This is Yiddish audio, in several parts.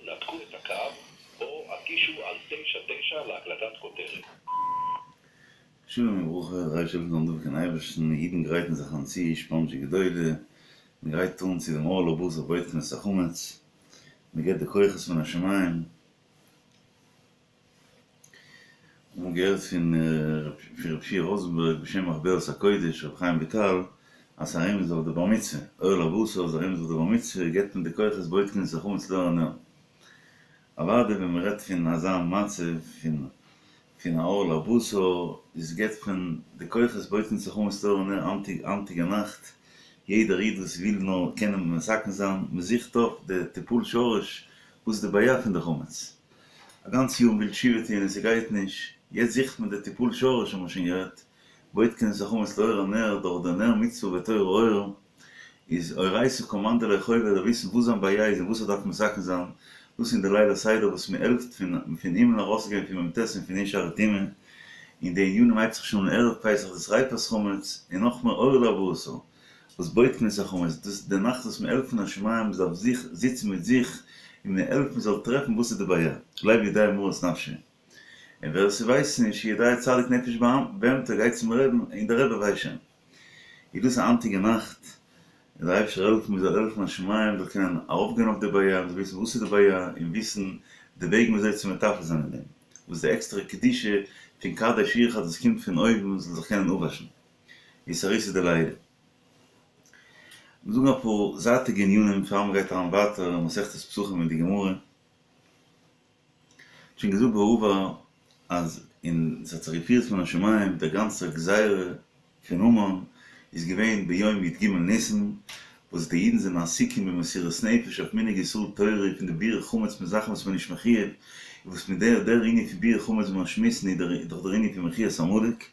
נתקו את הקו או הקישו על תשע תשע להקלטת כותרת. שלום וברכה, דער אייבערשטער זאל העלפן דעם אייבערשטן, אידן גרייטן זיך אן צו שפאנזשע גדולה, מען גרייט אן צו דעם אור לארבעה עשר בודקין את החמץ, מען געבט די כוחות מן השמים, אמאל געהערט פון ר' שיע ראזענבערג בשם מחברת הקודש ר' חיים וויטאל אז ס'איז א רמז אויף די בר מצוה, אור לארבעה עשר איז א רמז אויף די בר מצוה, געבט מען די כוחות בודקין את החמץ לאור הנר. אוודאי ווען מען רעדט פון אזא מצב פון פון א אור לארבעה עשר איז געבט מען די כוחות בודקין את החמץ לאור הנר היינטיגע נאכט, יעדער איד וואס וויל נאר קענען מתקן זיין, מען זוכט אויף די טיפול שורש וואס איז די בעיה פון די חמץ, א גאנץ יאר מ'וויל תשובה טוהן און ס'גייט נישט, יעצט זוכט מען די טיפול שורש האבן מיר שוין גערעדט, בודקין את החמץ לאור הנר דורך די נר מצוה ותורה אור, איז אורייתא קא מאן דלא חובה זאל וויסן וואס זיין בעיה איז און וואס ער דארף מתקן זיין, דאס אין די ליל הסדר וואס מען העלפט פון פון הימל ארויסגיין פון מ"ט און פון שערי טומאה, און די ענינים הייבט זיך שוין אן ערב פסח די שריפת חמץ, און נאכמער אור לארבעה עשר וואס בודקין את החמץ, דאס איז די נאכט וואס מען העלפט פון השמים מען דארף זיך זיצן מיט זיך און מען העלפט מען זאל טרעפן וואס איז די בעיה, לב יודע מרת נפשו, און ווער ס'ווייסט נישט יודע צדיק נפש בהמתו גייט צום רעבן און דער רבי ווייסט שוין. איז דאס א היינטיגע נאכט, און דער אייבערשטער זאל העלפן מען זאל העלפן השמים מען זאל קענען ארויפגיין אויף די בעיה, מען זאל וויסן וואס איז די בעיה און וויסן די וועגן ווי אזוי צו מטפל זיין אין דעם, וואס די עקסטערע קדושה פון קדש ורחץ וואס קומט פון אויבן מען זאל זיך קענען אפוואשן. אתערותא דלעילא. מיר זאגן אפאר זייטיגע ענינים פאר מען גייט אריין ווייטער אין מסכת פסחים אין די גמרא. שוין געזאגט בעבר אז אין ס'האט זיך געפירט מן השמים דער גאנצער גזירה פון המן איז געווען ביום י"ג ניסן וואס די אידן זענען עסוקים במסירות נפש אויף מנהג ישראל תורה פון די ביעור חמץ מיט זאכן וואס מען איז נישט מחויב וואס מיט דער דער ענין פון ביעור חמץ ווי מיר שמועסן איז דאך דער ענין פון מחיית עמלק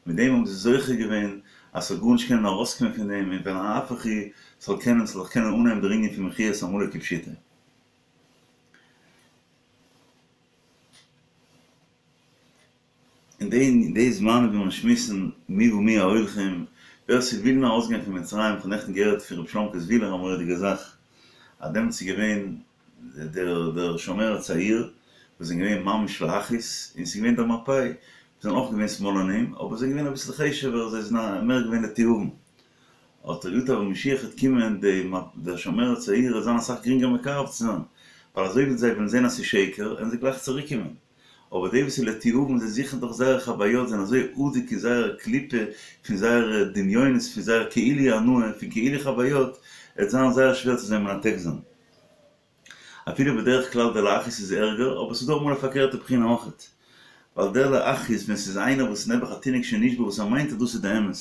מיט דעם האבן זיי זוכה געווען אז ס'זאל גארנישט קענען ארויסקומען פון דעם און ונהפוך הוא ס'זאל קענען ס'זאל זיך קענען אנהייבן דער ענין פון מחיית עמלק כפשוטו. אין די די זמנים ווי מיר שמועסן מי ומי ההולכים, ווער ס'וויל נאר ארויסגיין פון מצרים, כ'האב נעכטן געהערט פון ר' שלומ'קע זוויהלער א מורא'דיגע זאך, אז דעמאלטס איז געווען דער דער שומר הצעיר וואס זענען געווען ממש להכעיס, און ס'איז געווען דער מפאי וואס זענען אויך געווען שמאלנים, אבער זיי זענען געווען אביסל חשוב'ער, זיי זענען מער געווען לתיאבון. האט ער געזאגט אז ווען משיח וועט קומען די דער שומר הצעיר וועט זיין אסאך גרינגער מקרב צו זיין, ווייל אזוי ווי זיי וועלן זען אז ס'איז שקר וועלן זיי גלייך צוריק קומען, אבער די וואס איז לתיאבון זיי זוכן דאך זייערע חוויות זענען אזוי אדוק אין זייער קליפה פון זייערע דמיונות פון זייער כאילו הנאה פון כאילו חוויות, עט זיין זייער שווער צו זיי מנתק זיין. אפילו בדרך כלל דער להכעיס איז ערגער, אבער ס'איז דא אמאל א פארקערטע בחינה אויכעט. ווייל דער להכעיס ווען ס'איז איינער וואס איז נעבעך א תינוק שנשבה וואס ער מיינט אז דאס איז די אמת,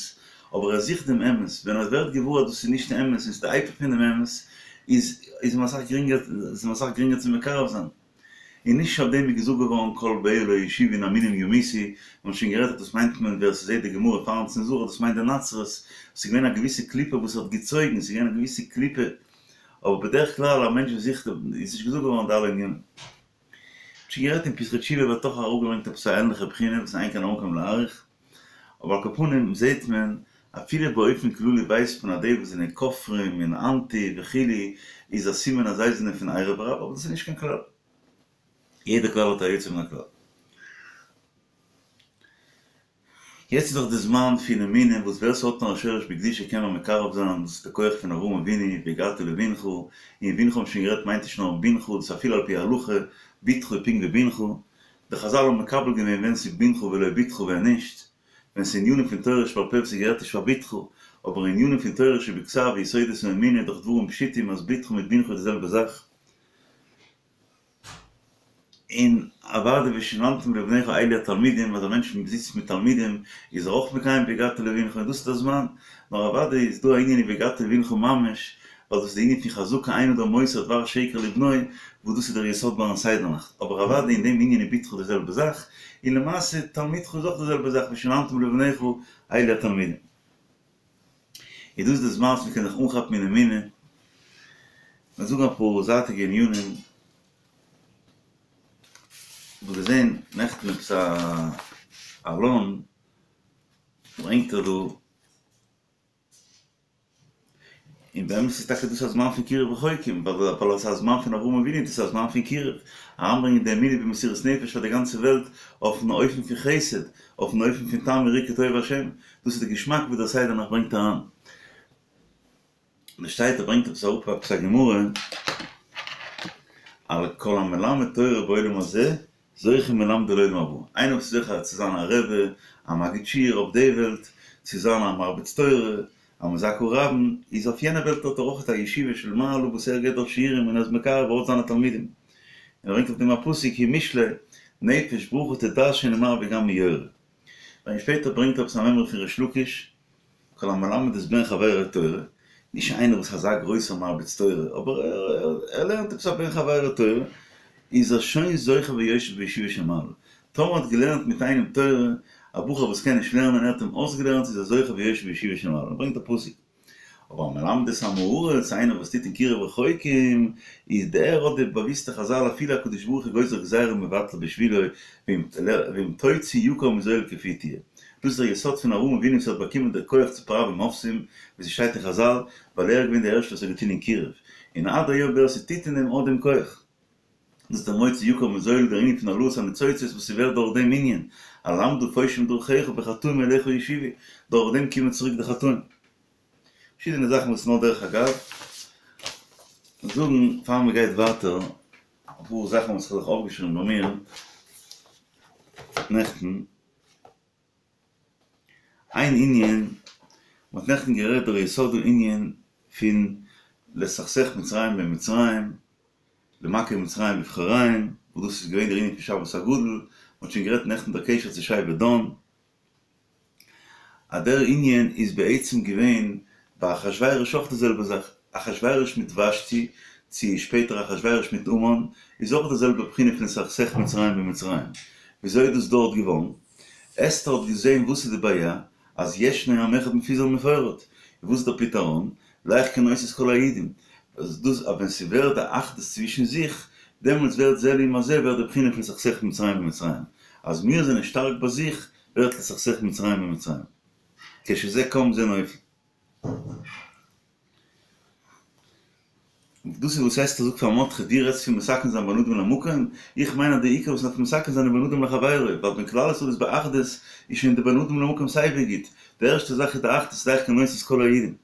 אבער ער זוכט דעם אמת, ווען ער ווערט געוואר אז דאס איז נישט די אמת און ס'איז די היפך פון דעם אמת, איז איז אים אסאך גרינגער איז אים אסאך גרינגער צו מקרב זיין. און נישט אויף דעם איז געזאגט געווארן כל באיה לא ישובון המינים ימותו, מיר האבן שוין גערעדט אז דאס מיינט מען ווער ס'זעט די גמרא פארן צנזור אז דאס מיינט די נצרות, ס'איז געווען א געוויסע קליפה וואס האט געצויגן, ס'איז געווען א געוויסע קליפה אבער בדרך כלל א מענטש וואס זוכט איז נישט געזאגט געווארן די אלע ענינים. שוין גערעדט אין פתחי תשובה ווערט אויך אראפגעברענגט עפעס א ענליכע בחינה וואס אין כאן המקום להאריך, אבער על כל פנים זעהט מען אפילו באופן כללי ווייסט מען אז די וואס זענען כופרים און אנטי וכו' איז א סימן אז זיי זענען פון ערב רב אבער דאס איז נישט קיין כלל. יעדע כלל האט א יוצא מן הכלל. יעצט איז דאך די זמן פון אמונה וואס ווער ס'האט נאר א שורש בקדושה קען מען מקרב זיין, דאס איז די כח פון אברהם אבינו, והגדת לבנך, און בנך האבן שוין גערעדט מיינט נישט נאר בנך, דאס איז אפילו על פי הלכה, בתך איז פונקט ווי בנך, די חזל האבן מקבל געווען ווען ס'איז בנך ולא בתך ווען נישט, ווען ס'איז ענינים פון תורה שבעל פה וואס איז גערעדט נישט פאר בתך, אבער ענינים פון תורה שבכתב ויסודות האמונה איז דאך דברים פשוטים אז בתך מיט בנך איז די זעלבע זאך. און אוודאי ושננתם לבניך אלו התלמידים, אז א מענטש זיצט מיט תלמידים איז ער אויך מקיים והגדת לבנך און דאס איז דער זמן, נאר אוודאי איז דא א ענין אין והגדת לבנך ממש, ווייל דאס איז די ענין פון חזקה אין אדם מוסר דבר שקר לבנו, וואס דאס איז דער יסוד ביים סדר נאכט, אבער אוודאי אין דעם ענין איז בתך די זעלבע זאך, און למעשה תלמידך איז אויך די זעלבע זאך ושננתם לבניך אלו התלמידים. איז דאס די זמן וואס מ'קען זיך אנכאפן אין אמונה, מיר זאגן אפאר זייטיגע ענינים, כ'האב געזען נעכטן עפעס א עלון ברענגט ער דא. און באמת איז טאקע דאס א זמן פון קירוב רחוקים, ווייל עס איז א זמן פון אברהם אבינו, דאס איז א זמן פון קירוב, אריינברענגען די אמונה במסירות נפש פאר די גאנצע וועלט אויפן אופן פון חסד, אויפן אופן פון טעמו וראו כי טוב השם, דאס איז די געשמאק וואס דער סדר נאכט ברענגט אריין. און עס שטייט ער ברענגט עפעס אראפ עפעס א גמרא על כל המלמד תורה בעולם הזה זוכה מלמדו לעולם הבא, איינער וואס איז זוכה צו זיין א רבי, א מגיד שיעור אויף די וועלט, צו זיין א מרביץ תורה, א מזכה רבים, איז אויף יענע וועלט האט ער אויך א ישיבה של מעלה וואס ער געבט דארט שיעורים און ער איז מקרב ארויס זיינע תלמידים. און ער ברענגט אויף דעם א פסוק אין משלי, נפש ברכה תדרשנו מר וגם מיורה. און שפעטער ברענגט ער עפעס א מימרא פון ריש לקיש, כל המלמד את בן חברו תורה, נישט איינער וואס איז אזא גרויסער מרביץ תורה, אבער ער לערנט עפעס א בן חברו תורה, איז ער שוין זוכה ויושב בישיבה של מעלה. טאמער האט געלערנט מיט איינעם תורה, א בחור וואס קען נישט לערנען, ער האט אים אויסגעלערנט, איז ער זוכה ויושב בישיבה של מעלה. ברענגט א פסוק. אבער המלמד את עם הארץ, איינער וואס טוט אין קירוב רחוקים, איז דער האט די באוויסטע חזל אפילו הקדוש ברוך הוא גוזר גזירה מבטלה בשבילו, ואם תוציא יקר מזול כפי תהיה. דאס איז דער יסוד פון אברהם אבינו וואס האט באקומען די כח צו פראווען מופתים, ווי ס'שטייט אין חזל, ווייל ער איז געווען דער ערשטער וואס האט געטון אין קירוב, און עד היום ווער ס'טוט אין דעם האט דעם כח. דאס איז דער מוציא יקר מזול, דער ענין פון העלאת הניצוצות וואס ס'ווערט דורך דעם ענין, אלמדה פושעים דרכיך וחטאים אליך ישובו, דורך דעם קומען צוריק די חטאים. פארשידענע זאכן וואס נאר דרך אגב זאגן פאר מ'גייט ווייטער, אפאר זאכן וואס כ'האב זיך אויפגעשריבן ביי מיר נעכטן. איין ענין, מ'האט נעכטן גערעדט דער יסוד הענין פון לסכסך מצרים במצרים, למכה מצרים בבכוריהם, וואס דאס איז געווען דער ענין פון שבת הגדול, מ'האט שוין גערעדט נעכטן דער קשר צו שבט דן, אז דער ענין איז בעצם געווען ביי אחשורוש אויך די זעלבע זאך, אחשורוש מיט ושתי, צו שפעטער אחשורוש מיט המן, איז אויך די זעלבע בחינה פון לסכסך מצרים במצרים. וויאזוי איז דאס דארט געווארן? אסתר האט געזען וואס איז די בעיה, אז ישנו עם אחד מפוזר ומפורד, און וואס איז דער פתרון? לך כנוס את כל היהודים, אז דאס אז ווען ס'ווערט די אחדות צווישן זיך, דעמאלטס ווערט זה לעומת זה ווערט די בחינה פון לסכסך מצרים במצרים, אז מיר זענען שטארק ביי זיך, ווערט לסכסך מצרים במצרים. כשזה קם זה נופל. דאס איז וואס אסתר זאגט פאר מרדכי, דו רעדסט פון מתקן זיין בין אדם למקום, איך מיין אז די עיקר וואס מ'דארף מתקן זיין איז בין אדם לחבירו, ווייל ווען כלל ישראל איז באחדות איז שוין די בין אדם למקום סייווי גוט, די ערשטע זאך איז די אחדות לך כנוס את כל היהודים.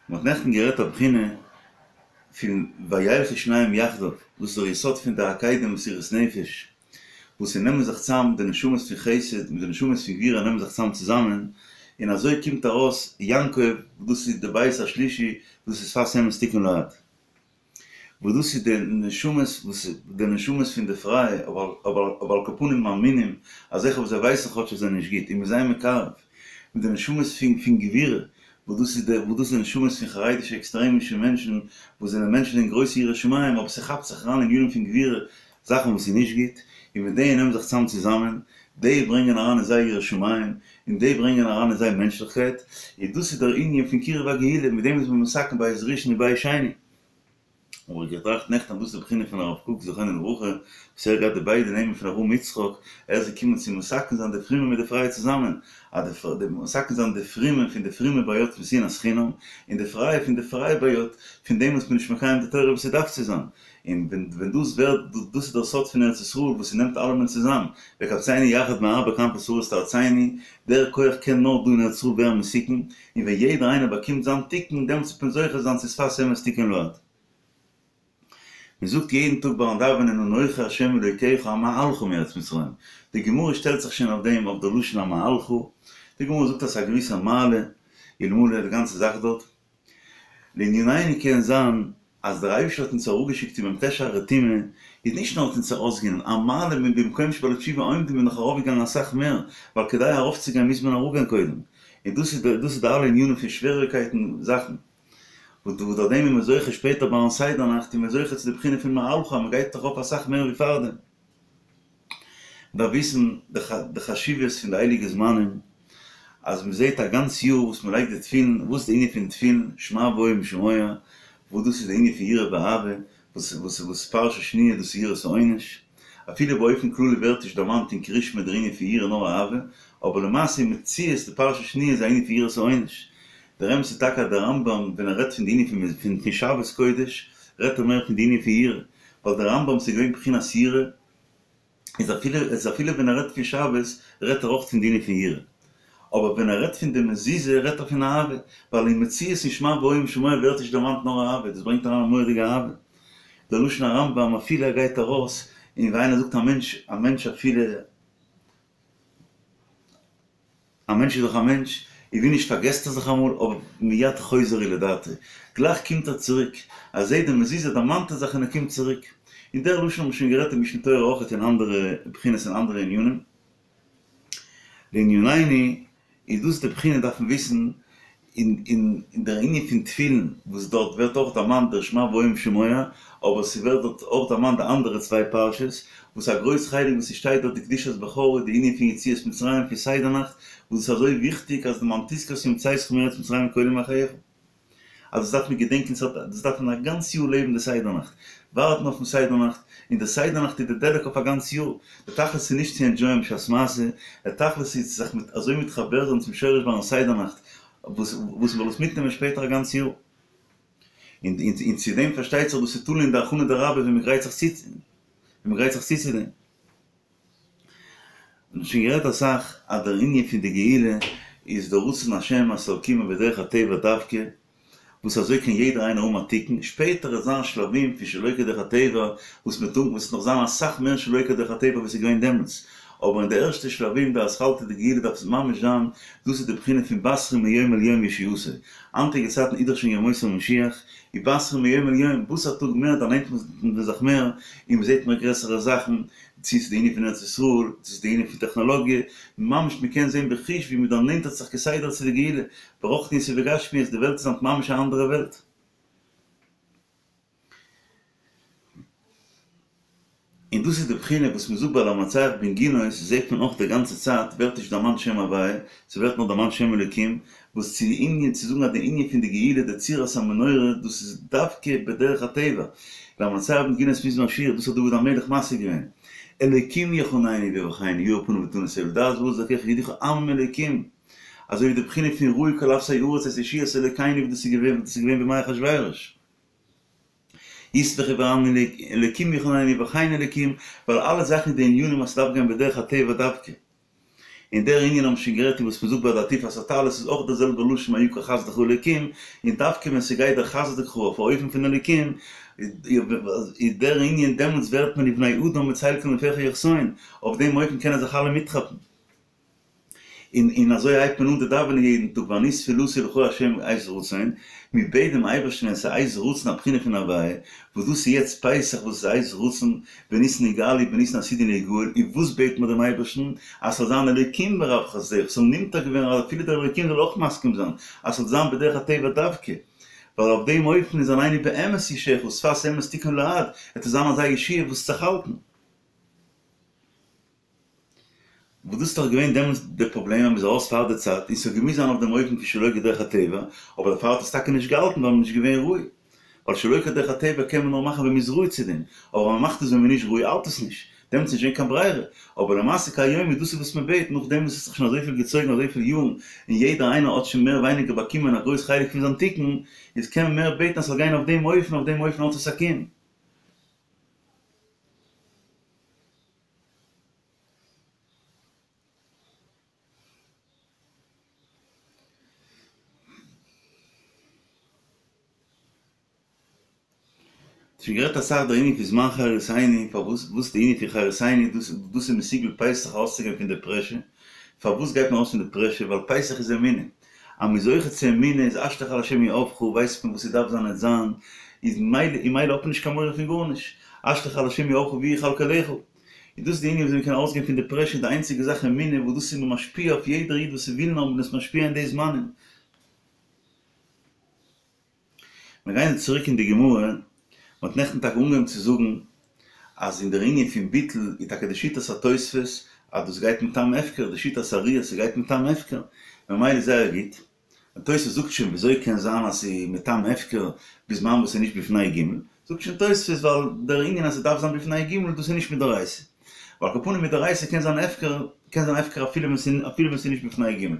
מ'האט נעכטן גערעדט א בחינה פון וילכו שניהם יחדיו, דאס איז דער יסוד פון די עקידה מסירות נפש, וואס ס'נעמען זיך צאם די נשמות פון חסד מיט די נשמות פון גבורה נעמען זיך צאם צוזאמען, און אזוי קומט ארויס יעקב, וואס דאס איז די בית השלישי, וואס איז שפת אמת תכון לעד. וואס דאס איז די נשמות וואס די נשמות פון די פרייע, אבער אבער על כל פנים מאמינים אזעלכע וואס זיי ווייסן כאטש אז זיי זענען נישט גוט און מ'איז זיי מקרב, מיט די נשמות פון פון גבורה, וואס דאס איז די וואס דאס איז די נשמות פון חרדישע עקסטרעמישע מענטשן וואס זענען מענטשן אין גרויסע יראת שמים אבער ס'כאפט זיך אריין אין ענינים פון גבורה זאכן וואס איז נישט גוט, און מיט די נעמען זיך צאם צוזאמען, די ברענגען אריין אין זיי יראת שמים, און די ברענגען אריין אין זיי מענטשליכקייט, און דאס איז דער ענין פון קירוב הגאולה, מיט דעם איז מען מתקן בית ראשון און בית שני. האב איך געטראכט נעכטן אז דאס איז די בחינה פון הרב קוק זכרונו לברכה, וואס ער האט געהאט די ביידע נעמען פון אברהם יצחק, ער איז געקומען צו מתקן זיין די פרומע מיט די פרייע צוזאמען, אז די מתקן זיין די פרומע פון די פרומע בעיות פון שנאת חינם, און די פרייע פון די פרייע בעיות פון דעם וואס מען איז נישט מקיים די תורה ווי ס'דארף צו זיין. און ווען ווען דאס ווערט, דאס איז דער סוד פון ארץ ישראל וואס ס'נעמט אלעמען צוזאם, וקבצנו יחד מארבע כנפות הארץ לארצנו, דער כח קען נאר דא אין ארץ ישראל ווערן מתוקן, און ווען יעדער איינער באקומט זיין תיקון, דעמאלטס וועט מען זוכה זיין צו שפת אמת תכון לעד. מען זאגט יעדן טאג ביים דאווענען אנכי ה' אלוקיך המעלך מארץ מצרים, די גמרא שטעלט זיך שוין אויף דעם אויף דער לשון המעלך, די גמרא זאגט אז ס'איז א געוויסע מעלה, אלמלא די גאנצע זאך דארט. לענינינו קען זיין אז דער אייבערשטער האט אונז אראפגעשיקט אין מ"ט שערי טומאה, איז נישט נאר האט אונז ארויסגענומען, א מעלה ממקום שבעלי תשובה עומדים איז נאך ארויפגעגאנגען אסאך מער, ווייל כדי ארויפצוגיין מוז מען אראפגיין קודם, און דאס איז דאס איז די אלע ענינים פון שוועריגקייטן זאכן, וואס דורך דעם איז מען זוכה שפעטער ביים סדר נאכט איז מען זוכה צו די בחינה פון מעלך אז מען גייט ארויף אסאך מער ווי פארדעם. מ'דארף וויסן די חשיבות פון די הייליגע זמנים, אז מ'זעט א גאנץ יאר וואס מ'לייגט די תפילין, וואס איז די ענין פון תפילין, שמע והיה אם שמוע, וואס דאס איז די ענין פון יראה ואהבה, וואס וואס וואס פרשה שניה דאס איז יראת העונש, אפילו באופן כללי ווערט נישט דערמאנט אין קריאת שמע דער ענין פון יראה נאר אהבה, אבער למעשה אין מציאות די פרשה שניה איז א ענין פון יראת העונש. דער אמת איז טאקע אז דער רמב ם ווען ער רעדט פון די ענין פון פון שבת קודש רעדט ער מער פון די ענין פון יראה, ווייל דער רמב ם ס'איז געווען בחינת יראה, איז אפילו איז אפילו ווען ער רעדט פון שבת רעדט ער אויך פון די ענין פון יראה. אבער ווען ער רעדט פון די מזוזה רעדט ער פון אהבה, ווייל אין מציאות אין שמע והיה אם שמוע ווערט נישט דערמאנט נאר אהבה, דאס ברענגט אריין א מורא'דיגע אהבה. דער לשון הרמב ם אפילו ער גייט ארויס און ווי איינער זאגט א מענטש א מענטש אפילו א מענטש איז דאך א מענטש, און ווי נישט פארגעסט ער זיך אמאל, אבער מיד חוזר הוא לדעתו, גלייך קומט ער צוריק, ער זעט די מזוזה דערמאנט ער זיך און ער קומט צוריק. און דער לשון האט מען שוין גערעדט אין משנה תורה אויכעט אין אנדערע בחינות און אנדערע ענינים. לענינינו איז דאס די בחינה דארף מען וויסן אין אין דער ענין פון תפילין וואס דארט ווערט אויך דערמאנט דער שמע והיה אם שמוע, אבער ס'ווערט דארט אויך דערמאנט די אנדערע צוויי פרשות, וואס א גרויס חלק וואס ס'שטייט דארט די קדושת בכור איז די ענין פון יציאת מצרים פון סדר נאכט, וואס איז אזוי וויכטיג אז למען תזכור את יום צאתך מארץ מצרים כל ימי חייך. אז דאס דארף מען געדענקען, דאס דארף מען א גאנץ יאר לעבן די סדר נאכט, ווארטן אויפן סדר נאכט, און די סדר נאכט איז די דלק אויף א גאנץ יאר, די תכלית איז נישט צו ענדזשויען בשעת מעשה, די תכלית איז צו זיך אזוי מתחבר זיין צום שורש ביים סדר נאכט, וואס וואס מ'זאל עס מיטנעמען שפעטער א גאנץ יאר. און און צו דעם פארשטייט זיך דאס איז תלוי אין די הכנה דרבה ווי מ'גרייט זיך צו, ווי מ'גרייט זיך צו צו דעם. מ'האט שוין גערעדט אסאך אז דער ענין פון די גאולה איז דער רצון השם אז ס'זאל קומען בדרך הטבע דווקא, וואס אזוי קען יעדער איינער האבן א תיקון, שפעטער וועט זיין שלבים פון שלא כדרך הטבע וואס מ'וועט האבן וואס וועט נאך זיין אסאך מער שלא כדרך הטבע ווי ס'איז געווען דעמאלטס, אבער אין די ערשטע שלבים די אתחלתא דגאולה דארף עס ממש זיין, דאס איז די בחינה פון מבשרים מיום אל יום ישועתו, היינטיגע צייטן איז דאך שוין ימות המשיח, מבשרים מיום אל יום, וואס א טאג מער דערנענטערט מען זיך מער, און מ'זעט מער גרעסערע זאכן, צו ס'איז די ענין פון ארץ ישראל, צו ס'איז די ענין פון טעכנאלאגיע, ממש מ'קען זען בחוש ווי מ'דערנענטערט זיך כסדר צו די גאולה, ברוחניות ובגשמיות, די וועלט איז היינט ממש א אנדערע וועלט. און דאס איז די בחינה וואס מ'זאגט ביי למנצח בנגינות, זעט מען אויך די גאנצע צייט ווערט נישט דערמאנט שם הוויה, ס'ווערט נאר דערמאנט שם אלוקים, וואס צו די ענין צו זאגן אז די ענין פון די גאולה די צורת המנורה דאס איז דווקא בדרך הטבע, למנצח בנגינות מזמור שיר, דאס האט דוד המלך משיג געווען, אלוקים יחננו ויברכנו יאר פניו ותנו סביב לדעת בארץ דרכיך יודוך עמים אלוקים, אזוי ווי די בחינה פון ראו כל אפסי ארץ את ישועת אלוקינו ווי דאס איז געווען ווי דאס איז געווען בימי אחשורוש. ישמחו וירננו אלוקים יחננו ויברכנו אלוקים, ווייל אלע זאכן איז די ענינים אז ס'דארף גיין בדרך הטבע דווקא. און דער ענין האבן שוין גערעדט און וואס מ'זאגט ביי די עטיפת הטלית איז אויך דער זעלבער לשון מה יקר חסדך אלוקים, און דווקא ווען ס'גייט דער חסדך אויף א אופן פון אלוקים, איז דער ענין דעמאלטס ווערט מען ובני אדם בצל כנפיך יחסיון, אויף דעם אופן קענען זיך אלע מיטכאפן. און און אזוי הייבט מען אן די דאווענען יעדן טאג ואני תפלתי לך ה' עת רצון, מען בעט דעם אייבערשטן ווען ס'איז עת רצון א בחינה פון הוויה, וואס דאס איז יעצט פסח וואס איז עת רצון, בניסן נגאלו ובניסן עתידין ליגאל, און וואס בעט מען דעם אייבערשטן? אז ס'זאל זיין אלוקים ברב חסדך, ס'זאל נמתק ווערן אז אפילו דער אלוקים זאל אויך מסכים זיין אז ס'זאל זיין בדרך הטבע דווקא, ווייל אויף דעם אופן איז עננו באמת ישעך ושפת אמת תכון לעד, עט עס זיין אזא ישועה וואס וועט זיך האלטן. וואס דאס איז דאך געווען דעמאלטס די פראבלעם אז מ'איז ארויס פאר די צייט און ס'האט געמוזט זיין אויף דעם אופן פון שלא כדרך הטבע, אבער דערפאר האט עס טאקע נישט געהאלטן ווייל מ'איז נישט געווען ראוי. ווייל שלא כדרך הטבע קען מען נאר מאכן ווען מ'איז ראוי צו דעם, אבער ווען מ'מאכט עס ווען מ'איז נישט ראוי האלט עס נישט, דעמאלטס איז נישט געווען קיין ברירה. אבער למעשה כהיום איז דאס איז וואס מ'בעט, נאכדעם וואס עס האט זיך שוין אזויפיל געצויגן אזויפיל יארן און יעדער איינער האט שוין מער ווייניגער באקומען א גרויס חלק פון זיין תיקון, איז קען מען מער בעטן אז ס'זאל גיין אויף דעם אופן, אויף דעם אופן האט עס א קיום. שוין גערעדט אסאך דער ענין פון זמן חירותינו, פארוואס וואס די ענין פון חירותינו, דאס דאס איז מסוגל פסח ארויסצוגיין פון די פרעשור, פארוואס גייט מען ארויס פון די פרעשור, ווייל פסח איז אמונה, אז מ'איז זוכה צו אמונה איז השלך על השם יהבך, ווייסט מען וואס ס'דארף זיין עט זיין, איז מילא און מילא האט מען נישט קיין מורא פון גארנישט, השלך על השם יהבך והוא יכלכלך. איז דאס די ענין וויאזוי מ'קען ארויסגיין פון די פרעשור, די איינציגע זאך אמונה וואס דאס איז מען משפיע אויף יעדער איד וואס ס'וויל נאר מען איז משפיע אין די זמנים. מיר גייען צוריק אין די גמרא, מען האט נעכטן טאקע אנגעהויבן צו זאגן אז אין דער ענין פון ביטול איז טאקע די שיטת התוספות אז דאס גייט מטעם הפקר, די שיטת הרי"י אז ס'גייט מטעם הפקר, ממילא זייער גוט, און תוספות זאגט שוין וויאזוי קען זיין אז ס'איז מטעם הפקר בזמן וואס ס'איז נישט בפני ג', זאגט שוין תוספות ווייל דער ענין אז ס'דארף זיין בפני ג' דאס איז נישט מדאורייתא. אבער על כל פנים מדאורייתא קען זיין הפקר, קען זיין הפקר אפילו ווען ס'איז אפילו ווען ס'איז נישט בפני ג'.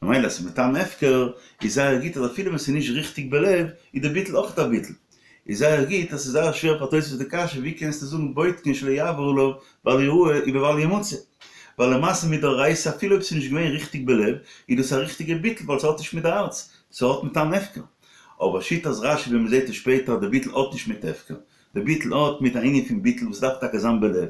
ממילא אז ס'איז מטעם הפקר איז זייער גוט אז אפילו ווען ס'איז נישט ריכטיג בלב איז די ביטול אויך א ביטול. איז זייער גוט אז ס'איז זייער שווער פאר תוספות די קשיא ווי קענסטו זאגן בודקין שלא יעבור עליו בל יראה ובבל ימצא. ווייל למעשה מדאורייתא אפילו אויב ס'איז נישט געווען ריכטיג בלב איז דאס א ריכטיגע ביטול ווייל ס'האט נישט מיט די הארץ, ס'האט מטעם הפקר. אבער שיטת רשי ווי מ'זעט עס שפעטער אז די ביטול האט נישט מיט הפקר, די ביטול האט מיט א ענין פון ביטול וואס דארף טאקע זיין בלב.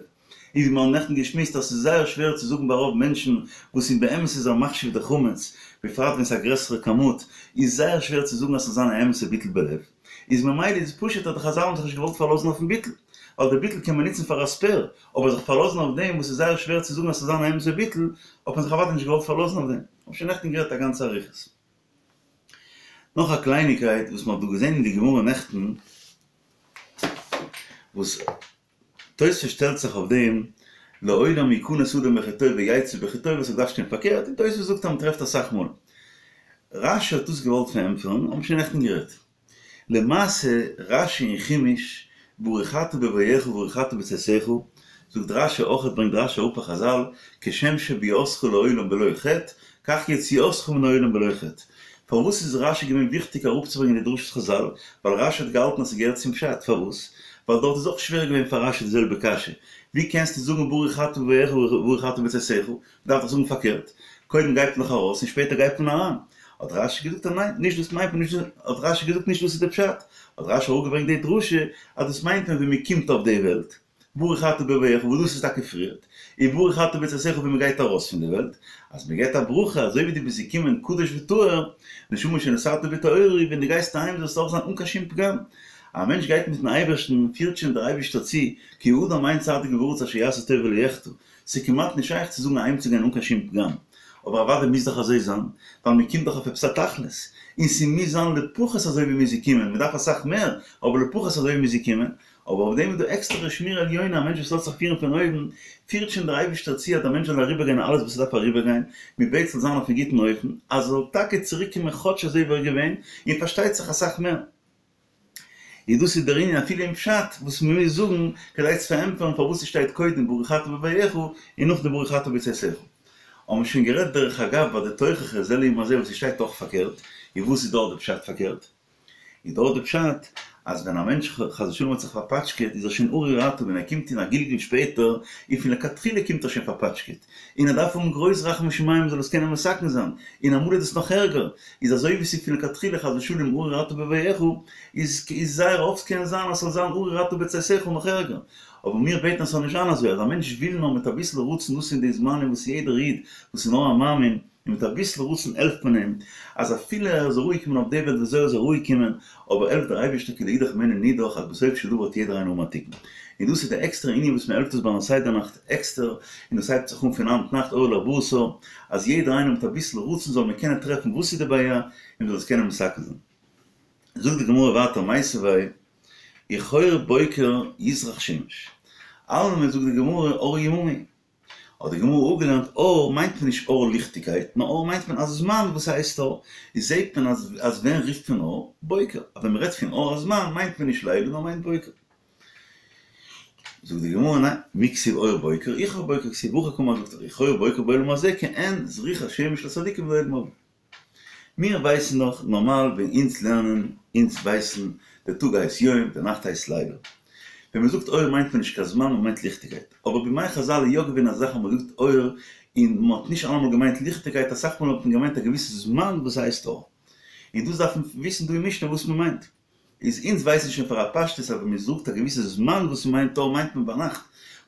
און ווי מיר האבן נעכטן געשמועסט אז ס'איז זייער שווער צו זאגן ביי רוב מענטשן וואס אין באמת איז ער מחשיב די חמץ, בפרט ווען ס'איז א גרעסערע כמות, איז זייער שווער צו זאגן אז ס'זאל זיין א אמת'ע ביטול בלב. איז ממילא איז פשוט אז די חזל האבן זיך נישט געוואלט פארלאזן אויפן ביטול, ווייל די ביטול קען מען נוצן פאר א ספעיר, אבער זיך פארלאזן אויף דעם וואס איז זייער שווער צו זאגן אז ס'זאל זיין א אמת'ע ביטול, האט מען זיך אוודאי נישט געוואלט פארלאזן אויף דעם. האב שוין נעכטן גערעדט א גאנצע אריכות. נאך א קלייניקייט וואס מ'האט דא געזען אין די גמרא נעכטן, וואס תוספות שטעלט זיך אויף דעם, לעולם יכנס אדם בחטאו ויצא בחטאו וואס ס'דארף שטיין פארקערט, און תוספות זאגט אז מ'טרעפט אסאך מאל. רשי האט דאס געוואלט פארענטפערן, האבן שוין נעכטן גערעדט. למעשה רשי אין חומש, ברוך אתה בבואך וברוך אתה בצאתך, זאגט רשי אויך ברענגט רשי אראפ א חזל, כשם שביאתך לעולם בלא חטא, כך יציאתך מן העולם בלא חטא. פארוואס איז רשי געווען וויכטיג אראפצוברענגען די דרשת חזל? ווייל רשי האט געהאלטן אז ס'געהערט צום פשט. פארוואס? ווייל דארט איז אויך שווער געווען פאר רשי די זעלבע קשיא. ווי קענסטו זאגן ברוך אתה בבואך וברוך אתה בצאתך? מ'דארף דאך זאגן פארקערט. קודם גייט מען דאך ארויס און שפעטער גייט מען אריין. האט רשי געזאגט אז ניין, נישט דאס מיינט מען, נישט דאס, האט רשי געזאגט נישט דאס איז די פשט. האט רשי אראפגעברענגט די דרשה אז דאס מיינט מען ווען מ'קומט אויף די וועלט. ברוך אתה בבואך וואס דאס איז טאקע פריערט, און ברוך אתה בצאתך ווען מען גייט ארויס פון די וועלט, אז מען געבט א ברכה אזוי ווי דו ביסט געקומען קדוש וטהור, נשמה שנתת בי טהורה, ווען דו גייסט אהיים זאלסטו אויך זיין אן קיין שום פגם. א מענטש גייט מיטן אייבערשטן, פירט שוין דער אייבערשטער צו, כי האדם אין צדיק בארץ אשר יעשה טוב ולא יחטא, ס'איז כמעט נישט שייך צו זאגן אהיימצוגיין אן קיין שום פגם. אבער אוודאי מוז דאך אזוי זיין, ווייל מען קומט דאך אויף עפעס א תכלית, און ס'מוז זיין לפחות אזוי ווי מ'איז געקומען, מ'דארף אסאך מער, אבער לפחות אזוי ווי מ'איז געקומען, אבער אויף דעם איז דא עקסטערע שמירה עליונה, א מענטש וואס לאזט זיך פירן פון אויבן, פירט שוין דער אייבערשטער צו אז דער מענטש זאל אריבערגיין אלעס וואס ער דארף אריבערגיין, מען בעט ס'זאל זיין אויפן גוטן אופן, אז ער זאל טאקע צוריק קומען כאטש אזוי ווי ער איז געווען, און פארשטייט זיך אסאך מער. איז דאס איז דער ענין אפילו אין פשט וואס מען מוז זאגן כדי צו פארענטפערן פארוואס ס'שטייט קודם ברוך אתה בבואך און נאכדעם ברוך אתה בצאתך. האבן מיר שוין גערעדט דרך אגב ביי די תוכחה זה לעומת זה וואס ס'שטייט אויך פארקערט, און וואס איז דארט די פשט פארקערט? איז דארט די פשט אז ווען א מענטש חס ושלום האט זיך פארפאטשקעט איז ער שוין ארור אתה ווען ער קומט אין א גלגול שפעטער און פון לכתחילה קומט ער שוין פארפאטשקעט און ער דארף האבן גרויס רחמי שמים זאל עס קענען מתקן זיין און אמאל איז דאס נאך ערגער איז אזוי ווי ס'איז פון לכתחילה חס ושלום ארור אתה בבואך איז איז זייער אפט קען זיין אז ס'זאל זיין ארור אתה בצאתך נאך ערגער אבער מיר בעטן אז ס'זאל נישט זיין אזוי אז א מענטש וויל נאר מיט אביסל רצון דאס אין די זמנים וואס יעדער איד וואס איז נאר א מאמין און מיט אביסל רצון העלפט מען אים, אז אפילו ער איז אראפגעקומען אויף די וועלט וויאזוי ער איז אראפגעקומען, אבער העלפט דער אייבערשטער כי לאידך ממנו נידח אז בסוף של דבר האט יעדער איינער האבן א תיקון. און דאס איז די עקסטערע ענין וואס מען העלפט עס ביים סדר נאכט עקסטער, און דאס הייבט זיך אן פון היינט נאכט אור לארבעה עשר, אז יעדער איינער מיט אביסל רצון זאל מען קענען טרעפן וואס איז די בעיה, און מען זאל עס קענען מתקן זיין. זאגט די גמרא ווייטער מיתיבי וכאור בוקר יזרח שמש, אלמא זאגט די גמרא אור יממא, האט די גמרא אפגעלערנט אור מיינט מען נישט אור ליכטיגקייט, נאר אור מיינט מען א זמן וואס הייסט אור, איז זעהט מען אז אז ווען רופט מען אור? בוקר, אז ווען מ'רעדט פון אור הזמן מיינט מען נישט לילה נאר מיינט בוקר. זאגט די גמרא ניין, מי כתיב אור בוקר, וכאור בוקר כתיב והכי קאמר זאגט ער וכאור בוקר בעולם הזה כעין זריחת שמש לצדיקים בעולם הבא. מיר ווייסן דאך נארמאל ווען אונז לערנען, אונז ווייסן, די טאג הייסט יום, די נאכט הייסט לילה. ווען מען זאגט אור מיינט מען נישט קיין זמן, מען מיינט ליכטיגקייט. אבער בימי חזל איז יא געווען א זאך אז מען האט געזאגט אור און מען האט נישט אלעמאל געמיינט ליכטיגקייט, אסאך מאל האט מען געמיינט א געוויסע זמן וואס הייסט אור. און דאס דארף מען וויסן דא אין משנה וואס מען מיינט. איז אונז ווייסן שוין פאר א פשטות אז ווען מען זאגט א געוויסע זמן וואס מען מיינט אור מיינט מען ביינאכט,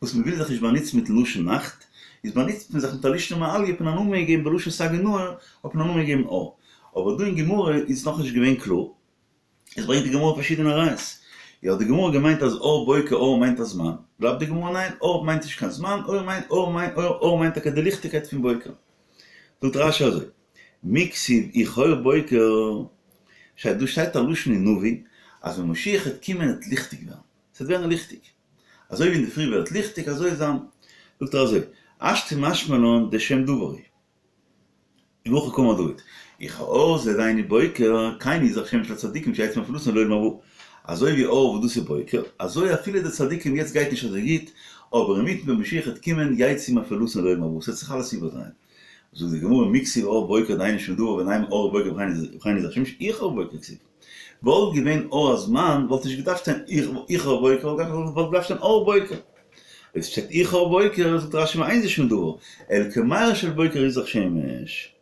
וואס מען וויל זיך נישט באנוצן מיטן לשון נאכט, איז באנוצט מען זיך מיט א לישנא מעליא האט מען א נאמען געגעבן בלשון סגי נהור האט מען א נאמען געגעבן אור. אבער דא אין גמרא איז עס נאכנישט געווען קלאר, עס ברענגט די גמרא פארשידענע ראיות. יא האט די גמרא געמיינט אז אור בוקר אור מיינט א זמן, בלייבט די גמרא ניין אור מיינט נישט קיין זמן אור מיינט אור מיינט אור מיינט טאקע די ליכטיגקייט פון בוקר. זאגט רש"י אזוי. מי כתיב וכאור בוקר, שטייט דא שטייט א לשון אין נביא אז ווען משיח העט קומען העט ליכטיג ווערן, ס'וועט ווערן ליכטיג, אזוי ווי אינדערפרי ווערט ליכטיג אזוי זיין, זאגט ער אזוי, השתא משמע לן דשם דבר הוא, והכי קאמר דוד, וכאור זה דהיינו בוקר, כן יזרח שמש לצדיקים שיצאו מאפלתן לעולם הבא. אזוי ווי אור וואס דאס איז בוקר, אזוי אפילו די צדיקים יעצט גייט נישט אזוי גוט, אבער אינמיטן ווען משיח וועט קומען יצאו מאפלתן לעולם הבא, ס'וועט זיך אלעס איבערדרייען. זאגט די גמרא מי כתיב אור בוקר דהיינו שום דבר ונימא אור בוקר וכן יזרח שמש איחור בוקר כתיב. וואלט געווען אור הזמן וואלט נישט געדארפט שטיין איחור בוקר וואלט געדארפט שטיין אור בוקר. אויב ס'שטייט איחור בוקר זאגט רש"י ואין זה שום דבר אלא כמאיר של בוקר יזרח שמש.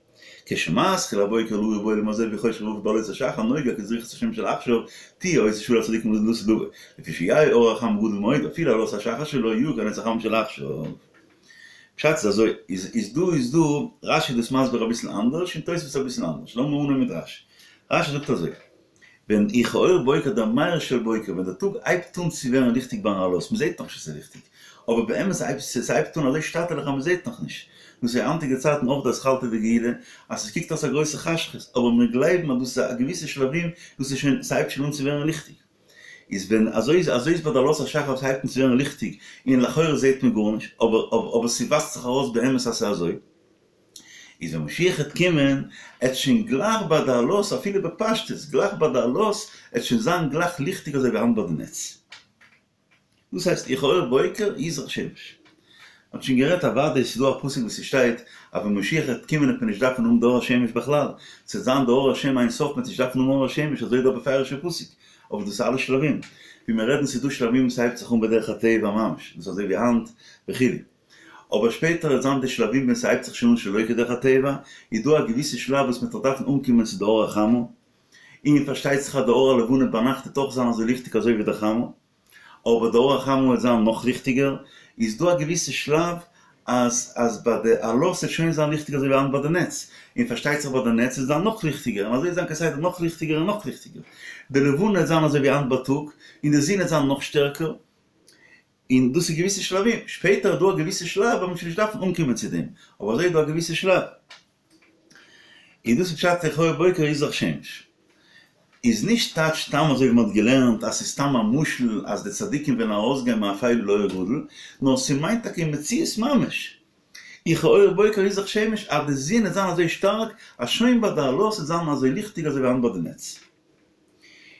כשמתחיל הבוקר להאיר בעולם הזה וחושך וערפל בעלות השחר נוגה כזריחת השמש של עכשיו תהיה אותה שעה לצדיקים לעתיד לבוא לפי שיהא אור החמה גדול מאוד אפילו עלות השחר שלו יאיר כנץ החמה של עכשיו. פשט איז אזוי, איז איז דא איז דא, רש"י איז דאס מסביר אביסל אנדערש און תוספות אביסל אנדערש, לאמיר אנהויבן מיט רש"י. רש"י זאגט אזוי, ווען איחור בוקר דער מאיר של בוקר, ווען דער טאג הייבט אן צו ווערן ליכטיג ביים עלות, מ'זעט נאכנישט אז ס'איז ליכטיג, אבער באמת ס'הייבט אן אזוי שטאטעלעך אז מ'זעט נאכנישט, דאס איז היינטיגע צייטן אויך די אתחלתא דגאולה, אז עס קוקט אויס א גרויסע חשכות, אבער מיר גלייבן אז דאס איז א געוויסע שלבים, דאס איז שוין, ס'הייבט שוין אן צו ווערן ליכטיג. איז ווען אזוי איז אזוי איז ביי די עלות השחר וואס הייבט אן צו ווערן ליכטיג און לכאורה זעהט מען גארנישט אבער אבער ס'ווייזט זיך ארויס באמת אז ס'איז אזוי איז ווען משיח העט קומען עט שוין גלייך ביי די עלות אפילו בפשטות גלייך ביי די עלות עט שוין זיין גלייך ליכטיג אזוי ווי היינט ביי די נץ. דאס הייסט איחור בוקר יזרח שמש. מ'האט שוין גערעדט אוודאי ס'איז דא א פסוק וואס ס'שטייט אז ווען משיח וועט קומען וועט מען נישט דארפן האבן די אור השמש בכלל, ס'וועט זיין די אור השם אין סוף מ'וועט נישט דארפן האבן אור השמש אזוי איז דא א בפירוש'ע פסוק, אבער דאס איז אלע שלבים, ווי מיר רעדן ס'איז דא שלבים וואס ס'הייבט זיך אן בדרך הטבע ממש, דאס איז אזוי ווי היינט וכו', אבער שפעטער וועט זיין די שלבים ווען ס'הייבט זיך שוין אן שלא כדרך הטבע, איז דא א געוויסע שלב וואס מ'וועט נאך דארפן אנקומען צו די אור החמה, און פארשטייט זיך אז די אור הלבנה ביינאכט וועט אויך זיין אזוי ליכטיג אזוי ווי די חמה. אבער די אור החמה וועט זיין נאך ליכטיגער, איז דא א געוויסע שלב אז אז ביי די עלות וועט שוין זיין ליכטיג אזוי ווי היינט ביי די נץ, און פארשטייט זיך ביי די נץ וועט זיין נאך ליכטיגער, און אזוי וועט זיין כסדר נאך ליכטיגער און נאך ליכטיגער, די לבנה וועט זיין אזוי ווי היינט בייטאג, און די זון וועט זיין נאך שטערקער, און דאס איז געוויסע שלבים, שפעטער איז דא א געוויסע שלב ווען מען וועט שוין נישט דארפן אנקומען צו דעם, אבער אזוי איז דא א געוויסע שלב. און דאס איז פשט איחור בוקר יזרח שמש. איז נישט טייטש סתם אזוי ווי מ'האט געלערנט אז ס'איז סתם א משל אז די צדיקים וועלן ארויסגיין מאפילה לאור גדול, נאר ס'מיינט טאקע אין מציאות ממש. איחור בוקר יזרח שמש אז די זון וועט זיין אזוי שטארק אז שוין ביי די עלות וועט זיין אזוי ליכטיג אזוי ווי היינט ביי די נץ.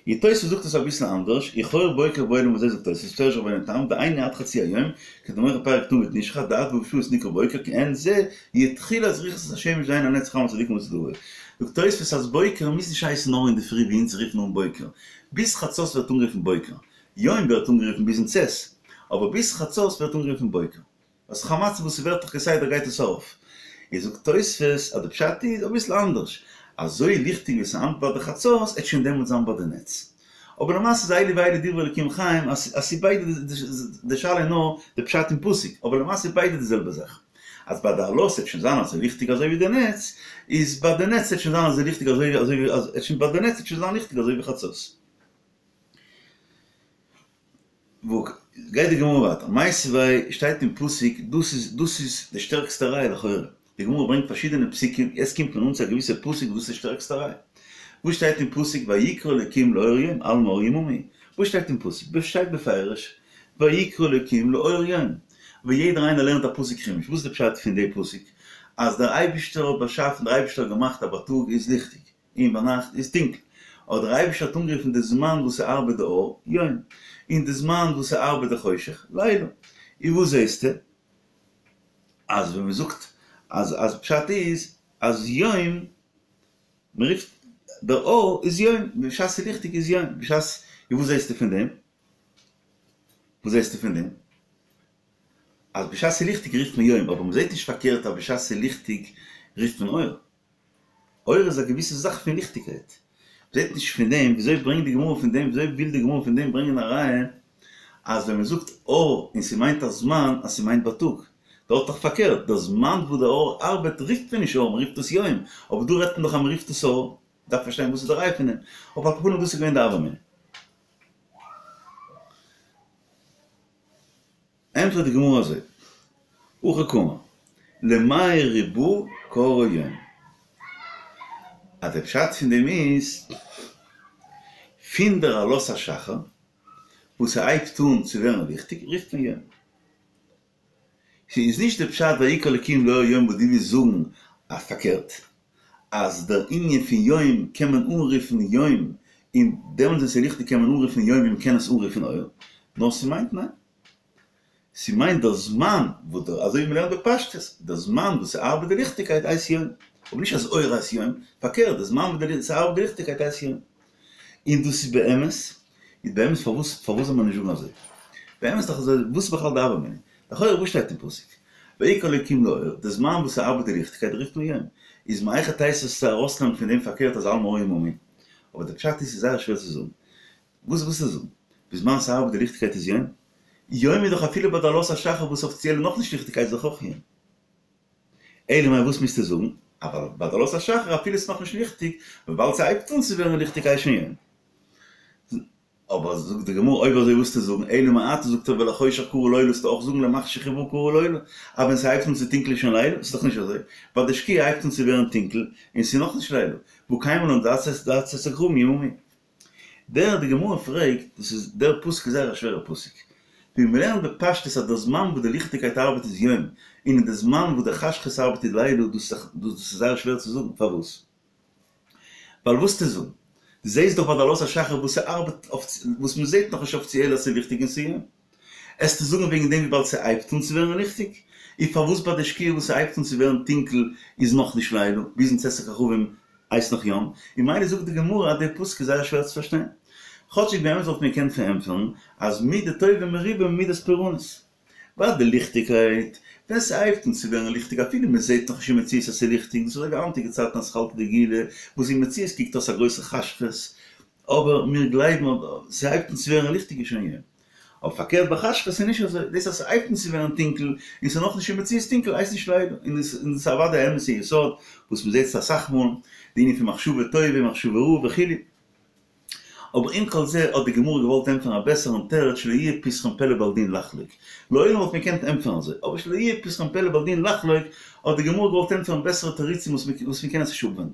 און תוספות זאגט עס אביסל אנדערש, איחור בוקר בעולם הזה זאגט תוספות, פירש רבינו תם, דהיינו עד חצי היום, כדמוכיח פרק תמיד נשחט, דעד ו' שעות נקרא בוקר, כעין זה, יהיה תחילת זריחת השמש דהיינו הנץ חמה לצדיקים לעתיד לבוא. זאגט תוספות אז בוקר מוז נישט הייסן נאר אינדערפרי ווי אונז רופן אן בוקר, ביז חצות ווערט אנגערופן בוקר, יום ווערט אנגערופן ביזן צאת, אבער ביז חצות ווערט אנגערופן בוקר. אז חמצן וואס ס'ווערט דאך כסדר גייט עס ארויף. איז זאגט תוספות אז די פשט איז אביסל אנדערש, אזוי ליכטיג ווי ס'היינט ביי די חצות עט שוין דעמאלטס זיין ביי די נץ. אבער למעשה איז אלו ואלו דברי אלקים חיים אז אז ס'איז ביידע די שאלה איז נאר די פשט אין פסוק, אבער למעשה איז ביידע די זעלבע זאך. אז ביי די עלות עט שוין זיין אזוי ליכטיג אזוי ווי די נץ, איז ביי די נץ עט שוין זיין אזוי ליכטיג אזוי אזוי ווי עט שוין ביי די נץ עט שוין זיין ליכטיג אזוי ווי חצות. וואו גייט די גמרא ווייטער? מיתיבי שטייט אין פסוק, דאס איז דאס איז די שטערקסטע ראיה לכאורה, די גמרא ברענגט פארשידענע פסוקים, יעצט קומט מען אן צו א געוויסע פסוק וואס איז די שטערקסטע ראיה. וואס שטייט אין פסוק ויקרא אלקים לאור יום אלמא אור יממא הוא? וואס שטייט אין פסוק? שטייט בפירוש ויקרא אלקים לאור יום. ווי יעדער איינער לערנט א פסוק חומש, וואס איז די פשט פון די פסוק? אז דער אייבישטער האט באשאפן, דער אייבישטער האט געמאכט אז בייטאג איז ליכטיג, און ביינאכט איז טונקל. אבער דער אייבערשטער האט אנגערופן די זמן וואס ס'ארבעט די אור, יום, און די זמן וואס ס'ארבעט די חושך, לילה. און וואס זעסטו? אז ווען מ'זאגט אז אז פשט איז אז יום, מ'רופט דער אור איז יום, בשעת ס'איז ליכטיג איז יום, בשעת, און וואס זעסטו פון דעם? וואס זעסטו פון דעם? אז בשעת ס'איז ליכטיג רופט מען יום, אבער מ'זעט נישט פארקערט אז בשעת ס'איז ליכטיג רופט מען אור. אור איז א געוויסע זאך פון ליכטיגקייט. מ'זעט נישט פון דעם, וויאזוי ברענגט די גמרא פון דעם, וויאזוי וויל די גמרא פון דעם ברענגען א ראיה אז ווען מ'זאגט אור און ס'מיינט א זמן אז ס'מיינט בייטאג. דארט דאך פארקערט, דער זמן וואס דער אור ארבעט רופט מען נישט אור, מ'רופט עס יום, אבער דא רעדט מען דאך אז מ'רופט עס אור. מ'דארף פארשטיין וואס איז די ראיה פון דעם. אבער על כל פנים דאס איז געווען די הוה אמינא. ענטפערט די גמרא אזוי, הכי קאמר, למאי רבא קראיה יום, אז דער פשט פון דעם איז, פון דער עלות השחר וואס ס'הייבט אן צו ווערן ליכטיג רופט מען יום. ס'איז נישט דער פשט ויקרא אלקים לאור יום וואס דו ווילסט זאגן אז פארקערט, אז דער ענין פון יום קען מען אנרופן יום. און דעמאלטס ווען ס'איז ליכטיג קען מען אנרופן יום ווי מ'קען עס אנרופן אור, נאר ס'מיינט ניין. ס'מיינט דער זמן וואס דער, אזוי ווי מ'לערנט בפשטות, דער זמן וואס ס'ארבעט די ליכטיגקייט הייסט יום, אבער נישט אז אור הייסט יום, פארקערט דער זמן וואס ס'ארבעט די ליכטיגקייט הייסט יום. און דאס איז באמת, איז באמת פארוואס פארוואס זאל מען נישט זאגן אזוי? באמת דאך אזוי, וואס איז בכלל די הוה אמינא? לכאורה וואס שטייט אין פסוק? ויקרא אלוקים לאור, די זמן וואס ס'ארבעט די ליכטיגקייט רופט מען יום, איז מהיכי תיתי צו ארויסנעמען פון דעם פארקערט אז אלעמאל אור יממי? אבער די פשט איז ס'איז זייער שווער צו זאגן. וואס ווילסטו זאגן? בזמן ס'ארבעט די ליכטיגקייט איז יום? יום איז דאך אפילו ביי די עלות השחר וואס אפיציעל איז נאכנישט ליכטיגקייט איז דאך אויך יום. אלא מאי וואס מוזטו זאגן? אבל ביי די עלות השחר אפילו ס'איז נאכנישט ליכטיג, וויבאלד ס'הייבט אן צו ווערן ליכטיג הייסט שוין יום. אבער זאגט די גמרא אויב אזוי וואלסטו זאגן אלא מעתה זאגט ער ולחושך קרא לילה זאלסטו אויך זאגן למחשך ברא קרא לילה אז ווען ס'הייבט אן צו טונקל איז שוין לילה? ס'איז דאך נישט אזוי ביי די שקיעה הייבט אן צו ווערן טונקל און ס'איז נאכנישט לילה והא קיימא לן דעד צאת הכוכבים יממי. דער די גמרא פרעגט, דאס איז דער פסוק איז זייער א שווערע פסוק, ווי מ'לערנט בפשטות אז דער זמן וואס די ליכטיגקייט ארבעט איז יום, און אין די זמן וואס די חשכות ארבעט איז לילה, דאס איז זייער שווער צו זאגן, פארוואס? ווייל וואס צו זאגן? דו זעסט דאך ביי די עלות השחר וואס ס'ארבעט אויף וואס מ'זעט נאכנישט אפיציעל אז ס'איז ליכטיג און ס'איז יום. עסטו זאגן וועגן דעם וויבאלד ס'הייבט אן צו ווערן ליכטיג? און פארוואס ביי די שקיעה וואס ס'הייבט אן צו ווערן טונקל איז נאכנישט לילה, ביזן צאת הכוכבים הייסט נאך יום? און ממילא זאגט די גמרא אז דער פסוק איז זייער שווער צו פארשטיין. כאטשיג באמת וואלט מען געקענט פארענטפערן אז מידה טובה מרובה ממידת פורענות. ביי די ליכטיגקייט, ווען ס'הייבט אן צו ווערן ליכטיג אפילו מ'זעט נאך נישט אין מציאות אז ס'איז ליכטיג, דאס איז אזוי ווי היינטיגע צייטן אתחלתא דגאולה וואס אין מציאות קוקט אויס א גרויסע חשכות, אבער מיר גלייבן אז ס'הייבט אן צו ווערן ליכטיג איז שוין יום. אבער פארקערט ביי חשכות איז נישט אזוי, דאס אז ס'הייבט אן צו ווערן טונקל און ס'איז נאכנישט אין מציאות טונקל הייסט נישט לילה, און דאס איז אוודאי א אמת'ע יסוד וואס מ'זעט עס אסאך מאל, די ענין פון מחשבה טובה מחשבה רעה וכו'. אבער עם כל זה האט די גמרא געוואלט ענטפערן א בעסערן תירוץ שלא יהיה פתחון פה לבעל דין לחלוק. לעולם וואלט מען געקענט ענטפערן אזוי, אבער שלא יהיה פתחון פה לבעל דין לחלוק האט די גמרא געוואלט ענטפערן בעסערע תירוצים וואס מען קען עס נישט אפווענדן.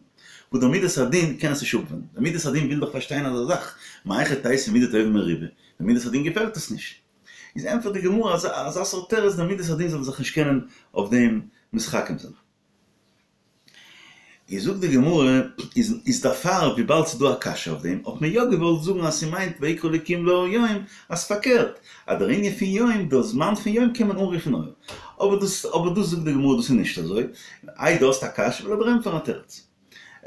וואס דער מידת הדין קען עס נישט אפווענדן. דער מידת הדין וויל דאך פארשטיין אזא זאך, מהיכי תיתי מידה טובה מרובה, דער מידת הדין געפעלט עס נישט. איז ענטפערט די גמרא אזא סארט תירוץ דער מידת הדין זאל זיך נישט קענען אויף דעם מתחכם זיין. איז זאגט די גמרא, איז איז דערפאר וויבאלד ס'איז דא א קשיא אויף דעם, האט מען יא געוואלט זאגן אז ס'מיינט ויקרא אלקים לאור יום, אז פארקערט, אז דער ענין פון יום, דער זמן פון יום קען מען אנרופן אור. אבער דאס אבער דאס זאגט די גמרא דאס איז נישט אזוי, איי דו האסט א קשיא, וועל איך דיר ענטפערן א תירוץ.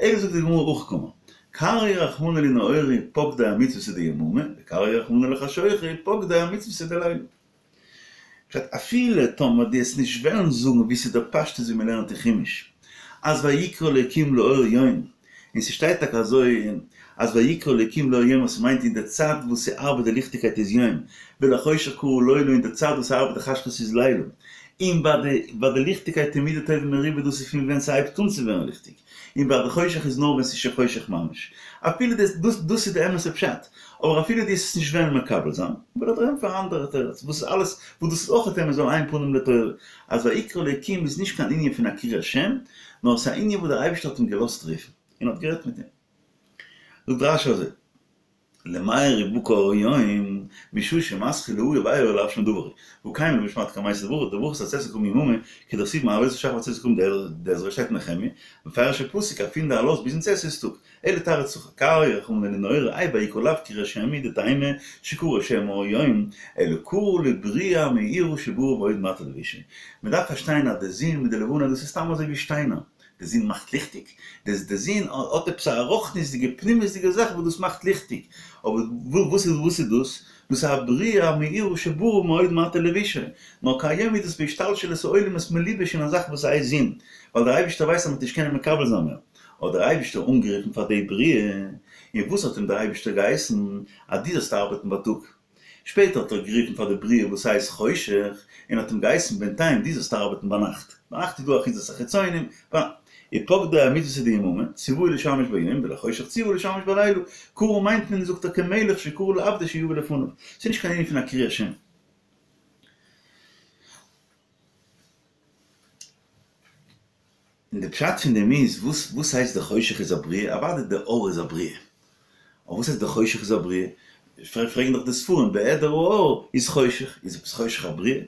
אלא זאגט די גמרא הכי קאמר, קרייה רחמנא להו נהורי פוקדי אמצוותא דיממא, וקרייה רחמנא לחשוכא פוקדי אמצוותא דליליא. פשט, אפילו טאמער דו עסט נישט וועלן זאגן ווי ס'איז דער פשטות ווי מ'לערנט אין חומש אז ויקרא אלוקים לאור יום, און ס'שטייט טאקע אזוי אז ויקרא אלוקים לאור יום וואס ס'מיינט אין די צייט וואס ס'ארבעט די ליכטיגקייט איז יום, ולחושך קרא לילה אין די צייט וואס ס'ארבעט די חשכות איז לילה, און ביי די ביי די ליכטיגקייט איז מידה טובה מרובה דאס איז פון ווען ס'הייבט אן צו ווערן ליכטיג. און ביי די חושך איז נאר ווען ס'איז שוין חושך ממש. אפילו דאס דאס דאס איז די אמת'ע פשט. אבער אפילו דו עסט עס נישט וועלן מקבל זיין, וועל איך דיר ענטפערן א אנדערע תירוץ, וואס איז אלעס, וואס דאס איז אויך אמת ווייל אין פנים לתורה, אז ויקרא אלוקים איז נישט קיין ענין פון א קריאת שם, נאר ס'איז א ענין וואס דער אייבערשטער האט אים געלאזט רופן, און האט גערעדט מיט אים. זאגט רש"י אזוי. למאי בקא אור יום, משעה שמתחיל להאיר ואור לאו שום דבר הוא, והא קיימא לן בשמעתא קמייתא דברכות עד צאת הכוכבים יממא, כדכתיב מעלות השחר ועד צאת הכוכבים דעזרא שטייט אין נחמיה, מפרש הפסוק אז פון די עלות ביזן צאת איז טאג, אלא תרץ הכי, קרייה רחמנא להו נהורי האי ויקרא לאו קריאת שם הוא דטעמא שקרא שם אור יום, אלא קרא לבריאה המאירה שברא בעוד מעט לבושיה. מען דארף פארשטיין אז די זון מיט די לבנה דאס איז סתם אזוי ווי שטיינער, די זון מאכט ליכטיג? די זון האט עפעס א רוחניות'דיגע פנימיות'דיגע זאך וואס דאס מאכט ליכטיג, אבער וואס איז וואס איז דאס? דאס איז א בריאה המאירה שברא מאוד מעט לבושיה, נאר כהיום איז דאס בהשתלשלות העולמות מלובש אין א זאך וואס הייסט זון, ווייל דער אייבערשטער ווייסט אז מ'וועט נישט קענען מקבל זיין מער, האט דער אייבערשטער אנגערופן פאר די בריאה, און וואס האט אים דער אייבערשטער געהייסן? אז דו זאלסט ארבעטן בייטאג. שפעטער האט ער גערופן פאר די בריאה וואס הייסט חושך, און האט אים געהייסן בינתיים דו זאלסט ארבעטן ביינאכט, ביינאכט איז דא אחיזת החיצונים, ופוקדי אמצוותא דיממא, ציווהו לשמש ביום, ולחושך ציווהו לשמש בלילה, קרא מיינט מען זאגט ער כמלך שקרא לעבדו שיבא לפניו, ס'איז נישט קיין ענין פון א קריאת שם. און די פשט פון דעם איז, וואס וואס הייסט די חושך איז א בריאה? אוודאי די אור איז א בריאה. אבער וואס הייסט די חושך איז א בריאה? פרעגן דאך די ספרים, בהעדר האור איז חושך, איז עפעס חושך א בריאה?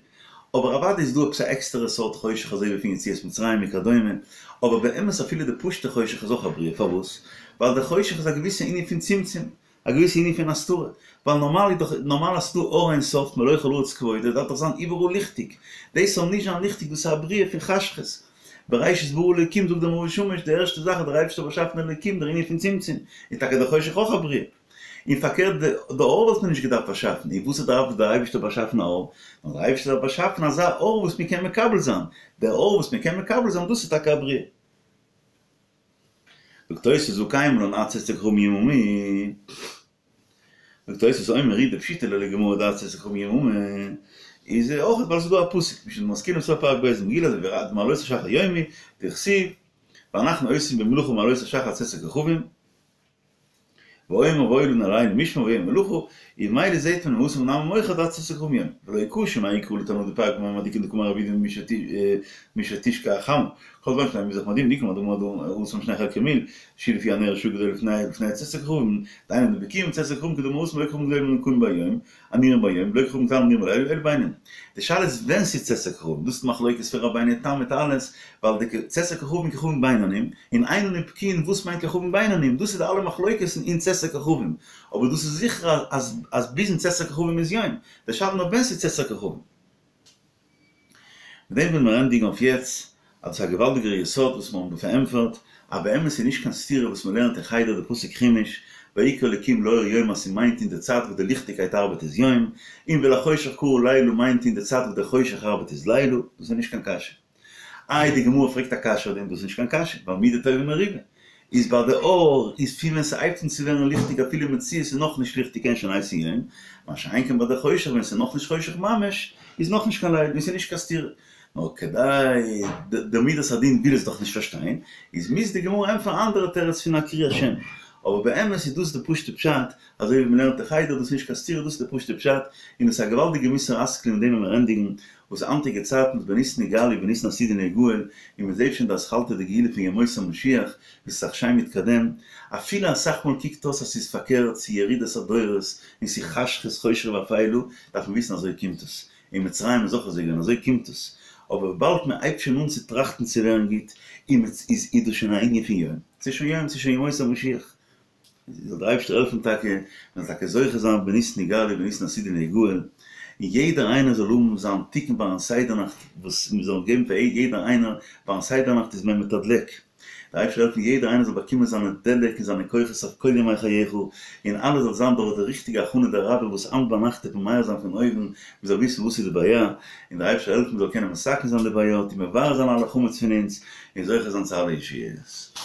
אבער אוודאי איז דא עפעס א עקסטערע סארט חושך אזוי ווי פון יציאת מצרים וכדומה, אבער באמת אפילו די פשוטע חושך איז אויך א בריאה, פארוואס? ווייל די חושך איז א געוויסע ענין פון צמצום, א געוויסע ענין פון הסתרה, ווייל נארמאל איז דאך נארמאל אז ס'דא אור אין סוף מלא כל הארץ כבודו דארף דאך זיין איבעראל ליכטיג, דאס זאל נישט זיין ליכטיג דאס איז א בריאה פון חשכות, בראשית ברא אלוקים זאגט דער מאור ושמש די ערשטע זאך האט דער אייבערשטער באשאפן אלוקים דער ענין פון צמצום, איז טאקע דער חושך אויך א בריאה. און פארקערט די אור וואלט מען נישט געדארפט באשאפן, און וואס דארף דער אייבערשטער באשאפן א אור? נאר דער אייבערשטער דארף באשאפן אזא אור וואס מען קען מקבל זיין, דער אור וואס מען קען מקבל זיין דאס איז טאקע א בריאה. זאגט תוספות והא קיימא לן עד צאת הכוכבים יממה, זאגט תוספות אומר ר"י דפשיטא ליה לגמרא דעד צאת הכוכבים יממה, איז אויך ווייל ס'איז דא א פסוק, משנה משכילים סוף פרק ב' מגילה אזוי ווי מעלות השחר יום הוא, דכתיב ואנחנו עושים במלאכה מעלות השחר עד צאת הכוכבים, ואומר והיה לנו הלילה משמר ויום מלאכה, און ממילא זעהט מען התם נמי מוכח דעד צאת הכוכבים יום, ולא קשיא מאי קרא לתנא דפרק במה מדליקין דקאמר רב יהודה משתשקע החמה, כל זמן שאין המזרח מאדים דאמר התם שני חלקי מיל, שהיא לפי הנר שעה גדולה לפני צאת הכוכבים, דהיינו דבקיאים צאת הכוכבים כדאמר התם לא כוכבים גדולים הנקראים ביום, הנראים ביום, ולא כוכבים קטנים הנראים בלילה, אלא בעינן. די שאלה איז ווען ס'איז צאת הכוכבים, דאס איז מחלוקת פון רבינו תם מיט אלעס, ווייל די צאת הכוכבים כוכבים בינונים, און אין אנו בקיאין וואס מיינט כוכבים בינונים, דאס איז די אלע מחלוקת'ן אין צאת הכוכבים, אבער דאס איז זיכער אז אז ביזן צאת הכוכבים איז יום, די שאלה נאר ווען ס'איז צאת הכוכבים. מיט דעם ווילן מיר ענדיגן אויף יעצט, אז דאס איז א געוואלדיגער יסוד וואס מיר האבן דא פארענטפערט, אז באמת איז נישט קיין סתירה וואס מען לערנט אין חדר די פסוק חומש, ויקרא אלקים לאור יום אז ס'מיינט אין די צייט וואס די ליכטיגקייט ארבעט איז יום, און ולחושך קרא לילה מיינט אין די צייט וואס די חושך ארבעט איז לילה, דאס איז נישט קיין קשיא. איי די גמרא פרעגט א קשיא אויף דעם, דאס איז נישט קיין קשיא, ווייל מידה טובה מרובה איז ביי די אור איז פון ווען ס'הייבט אן צו ווערן ליכטיג אפילו מציאות איז נאכנישט ליכטיג קען שוין הייסן יום, מה שאין כן ביי די חושך ווען ס'איז נאכנישט חושך ממש איז נאכנישט קיין לילה און ס'איז נישט קיין סתירה. נאר כדי די מידת הדין וויל עס דאך נישט פארשטיין, איז מוז די גמרא ענטפערן א אנדערע תירוץ פון א קריאת שם. אבער באמת איז דאס די פשוט'ע פשט, אזוי ווי מ'לערנט אין חדר, דאס איז נישט קיין סתירה, דאס איז די פשוט'ע פשט, און דאס איז א געוואלדיגע מוסר השכל אין דעם וועלן מיר ענדיגן, וואס היינטיגע צייטן איז בניסן נגאלו ובניסן עתידין ליגאל, און מ'זעט שוין די אתחלתא דגאולה פון ימות המשיח, ווי ס'איז זיך שיין מתקדם, אפילו אסאך מאל קוקט אויס אז ס'איז פארקערט, ס'איז ירידת הדורות, און ס'איז חשכות חושך ואפלה, דארף מען וויסן אזוי קומט עס. אין מצרים איז אויך אזוי געווען, אזוי קומט עס. אבער וויבאלד מען הייבט שוין אן צו טראכטן צו ווערן גוט, און מען איז איז דאס שוין א ענין פון יום. ס'איז שוין יום, ס'איז שוין ימות המשיח. זאל דער אייבערשטער העלפן טאקע, מען זאל טאקע זוכה זיין בניסן נגאלו ובניסן עתידין ליגאל, און יעדער איינער זאל האבן זיין תיקון ביים סדר נאכט, וואס מען זאל געבן פאר יעדער איינער, ביים סדר נאכט איז מען מתדלק. דער אייבערשטער זאל העלפן יעדער איינער זאל באקומען זיינע דלק און זיינע כוחות אויף כל ימי חייך, און אלעס זאל זיין דורך די ריכטיגע הכנה דרבה וואס היינט ביינאכט וועט מען מאיר זיין פון אויבן, מען זאל וויסן וואס איז די בעיה, און דער אייבערשטער זאל העלפן מען זאל קענען מתקן זיין די בעיות און מבער זיין אלע חמץ פון אונז, און זוכה זיין צו אלע ישועות.